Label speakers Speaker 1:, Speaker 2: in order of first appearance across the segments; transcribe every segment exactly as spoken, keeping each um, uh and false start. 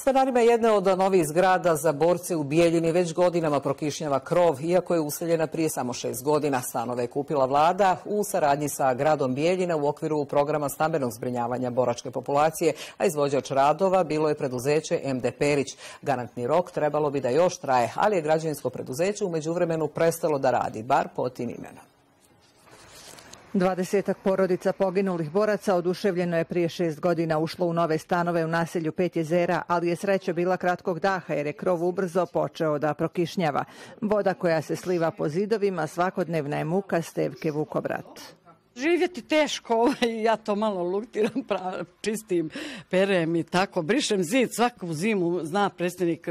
Speaker 1: Stanarima jedne od novih zgrada za borce u Bijeljini već godinama prokišnjava krov, iako je useljena prije samo šest godina. Stanove je kupila vlada u saradnji sa gradom Bijeljina u okviru programa stambenog zbrinjavanja boračke populacije, a izvođač radova bilo je preduzeće M D Perić. Garantni rok trebalo bi da još traje, ali je građevinsko preduzeće u međuvremenu prestalo da radi, bar pod tim imenom.
Speaker 2: Dvadesetak porodica poginulih boraca oduševljeno je prije šest godina ušlo u nove stanove u naselju Pet jezera, ali je sreća bila kratkog daha jer je krov ubrzo počeo da prokišnjava. Voda koja se sliva po zidovima svakodnevna je muka Stevke Vukobrat.
Speaker 3: Živjeti teško, ja to malo luktiram, čistim, perem i tako. Brišem zid svaku zimu, zna predsjednik,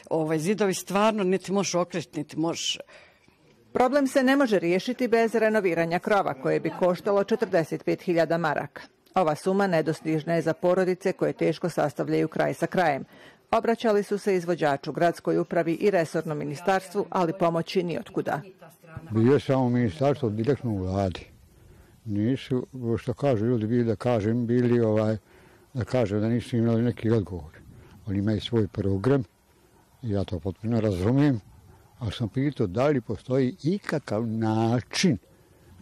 Speaker 3: ovaj, zidovi stvarno niti možeš okrečiti, niti možeš...
Speaker 2: Problem se ne može riješiti bez renoviranja krova, koje bi koštalo četrdeset pet hiljada maraka. Ova suma nedostižna je za porodice koje teško sastavljaju kraj sa krajem. Obraćali su se izvođaču, gradskoj upravi i resornom ministarstvu, ali pomoći ni otkuda.
Speaker 4: Bio samo ministarstvo direktno u vladi. Nisu, što kažu ljudi, bili da kažem, bili ovaj, da kažem da nisu imali neki odgovor. Oni imaju svoj program, ja to potpuno razumijem. Ali sam pitao da li postoji ikakav način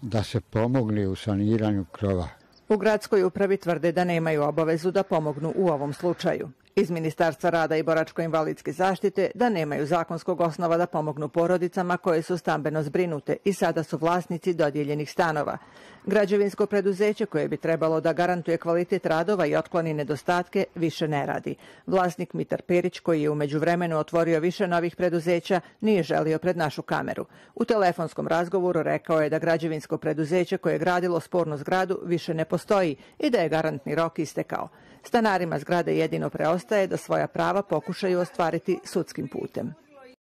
Speaker 4: da se pomogne u saniranju krova.
Speaker 2: U gradskoj upravi tvrde da nemaju obavezu da pomognu u ovom slučaju. Iz Ministarstva rada i boračko-invalidske zaštite da nemaju zakonskog osnova da pomognu porodicama koje su stambeno zbrinute i sada su vlasnici dodijeljenih stanova. Građevinsko preduzeće koje bi trebalo da garantuje kvalitet radova i otkloni nedostatke više ne radi. Vlasnik Mitar Perić, koji je u međuvremenu otvorio više novih preduzeća, nije želio pred našu kameru. U telefonskom razgovoru rekao je da građevinsko preduzeće koje je gradilo spornu zgradu više ne postoji i da je garantni rok istekao. Stanarima zgrade jedino preostaje da svoja prava pokušaju ostvariti sudskim putem.